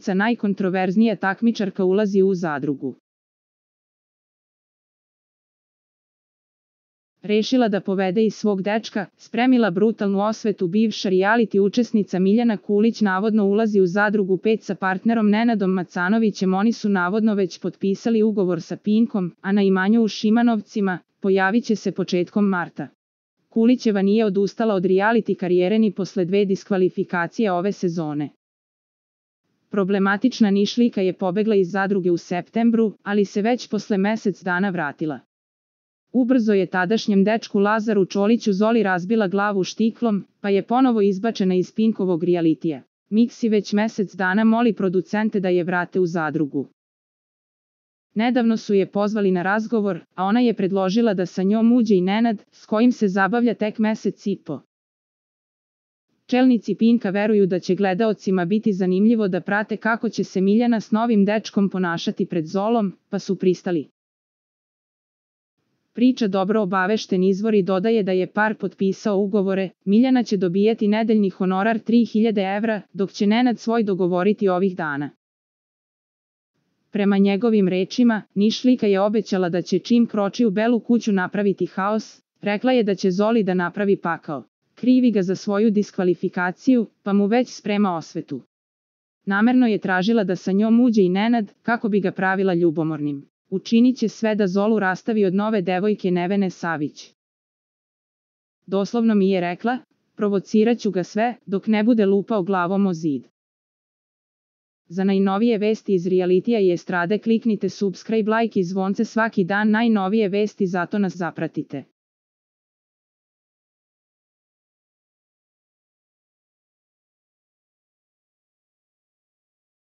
glumica najkontroverznija takmičarka ulazi u zadrugu. Rešila da povede i svog dečka, spremila brutalnu osvetu. Bivša reality učesnica Miljana Kulić navodno ulazi u zadrugu 5 sa partnerom Nenadom Macanovićem. Oni su navodno već potpisali ugovor sa Pinkom, a na imanju u Šimanovcima pojavit će se početkom marta. Kulićeva nije odustala od reality karijere ni posle 2 diskvalifikacije ove sezone. Problematična Nišlijka je pobegla iz zadruge u septembru, ali se već posle mesec dana vratila. Ubrzo je tadašnjem dečku Lazaru Čoliću Zoli razbila glavu štiklom, pa je ponovo izbačena iz Pinkovog realitija. Miksi već mesec dana moli producente da je vrate u zadrugu. Nedavno su je pozvali na razgovor, a ona je predložila da sa njom uđe i Nenad, s kojim se zabavlja tek mesec i po. Čelnici Pinka veruju da će gledaocima biti zanimljivo da prate kako će se Miljana s novim dečkom ponašati pred Zolom, pa su pristali. Priča dobro obavešten izvori dodaje da je par potpisao ugovore. Miljana će dobijati nedeljni honorar 3000 evra, dok će Nenad svoj dogovoriti ovih dana. Prema njegovim rečima, Nišlijka je obećala da će čim kroči u Belu kuću napraviti haos. Rekla je da će Zoli da napravi pakao. Krivi ga za svoju diskvalifikaciju, pa mu već sprema osvetu. Namerno je tražila da sa njom uđe i Nenad, kako bi ga pravila ljubomornim. Učinit će sve da Zolu rastavi od nove devojke Nevene Savić. Doslovno mi je rekla, provocirat ću ga sve, dok ne bude lupao glavom o zid. Za najnovije vesti iz realitija i estrade kliknite subscribe, like i zvonce svaki dan. Najnovije vesti, zato nas zapratite.